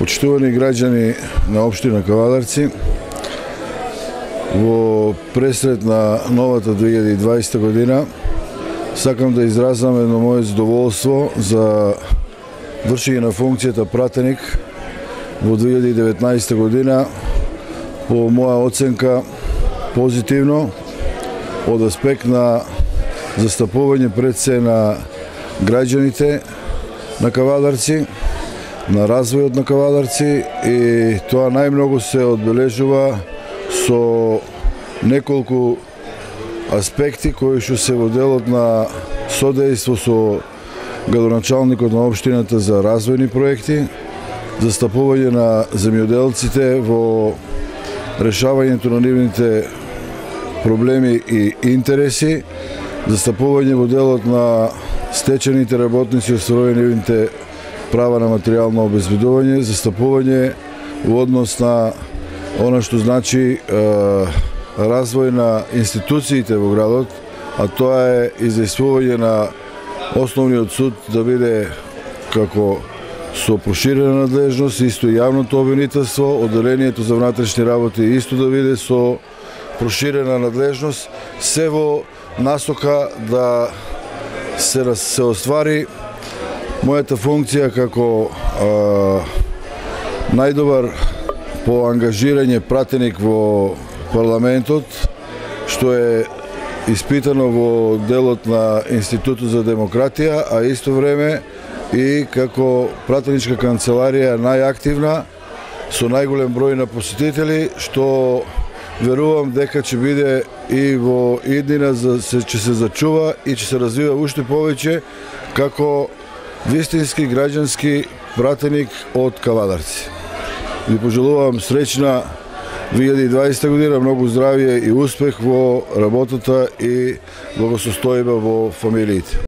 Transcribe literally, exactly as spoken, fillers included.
Почитувани граѓани на општина Кавадарци, во пресрет на новата две илјади и дваесета година сакам да изразам едно мое задоволство за вршење на функцијата пратеник во две илјади и деветнаесета година, по моја оценка позитивно, од аспект на застапување пред се на граѓаните на Кавадарци, на развојот на Кавадарци, и тоа најмногу се одбележува со неколку аспекти кои што се во делот на содејство со градоначалникот на општината за развојни проекти, застапување на земјоделците во решавањето на нивните проблеми и интереси, застапување во делот на стечените работници и остварување нивните права на материјално обезбедување, застапување во однос на она што значи е, развој на институциите во градот, а тоа е изјаснување на Основниот суд да биде како со проширена надлежност, исто и јавното обвинителство, одделението за внатрешни работи исто да биде со проширена надлежност, се во насока да се, се оствари мојата функција како а, најдобар по ангажирање пратеник во парламентот, што е испитано во делот на Институтот за демократија, а исто време и како пратеничка канцеларија најактивна, со најголем број на посетители, што верувам дека ќе биде и во иднина, ќе се зачува и ќе се развива уште повеќе како вистински граѓански пратеник од Кавадарци. Ви пожелувам среќна две илјади и дваесета година, многу здравје и успех во работата и благосостојба во фамилиите.